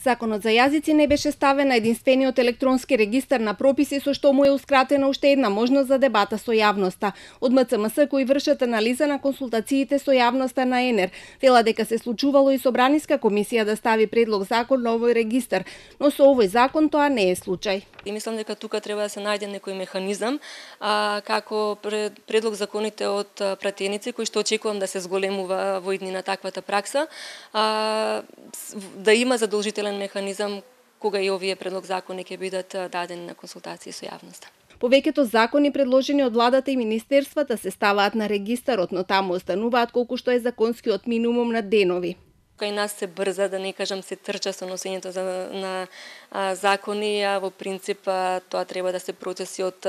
Законот за јазици не беше ставен на единствениот електронски регистар на прописи, со што му е ускратена уште една можност за дебата со јавноста. Од МЦМС, кои вршат анализа на консултациите со јавноста на ЕНЕР, вела дека се случувало и Собраниска комисија да стави предлог закон на овој регистар, но со овој закон тоа не е случај. И мислам дека тука треба да се најде некој механизам, како предлог законите од пратеници, кои што очекувам да се зголемува во иднина таквата пракса, да има задолжителен механизам кога и овие предлог закони ќе бидат дадени на консултации со јавноста. Повеќето закони предложени од владата и министерствата се ставаат на регистарот, но таму остануваат колку што е законскиот минимум на денови. Кај нас се брза, да не кажам се трча со носењето на закони, а во принцип тоа треба да се процеси од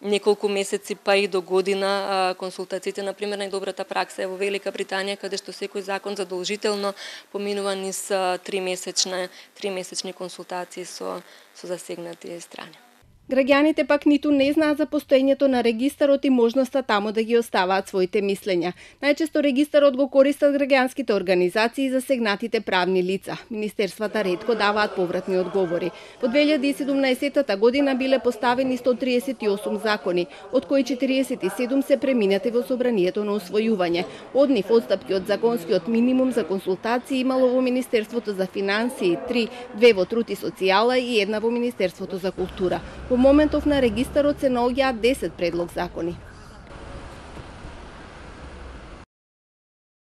неколку месеци па и до година. Консултациите, например, најдобрата пракса е во Велика Британија, каде што секој закон задолжително поминува низ 3-месечни консултации со засегнати страни. Граѓаните пак ниту не знаат за постоењето на регистарот и можноста таму да ги оставаат своите мислења. Најчесто регистарот го користат граѓанските организации и засегнатите правни лица. Министерствата ретко даваат повратни одговори. Во 2017 година биле поставени 138 закони, од кои 47 се преминати во собранието на усвојување. Од нив отстапки од законскиот минимум за консултации имало во Министерството за финансии 3, 2 во труд и социјала и 1 во Министерството за култура. Во моментов на регистарот се наоѓаат 10 предлог закони.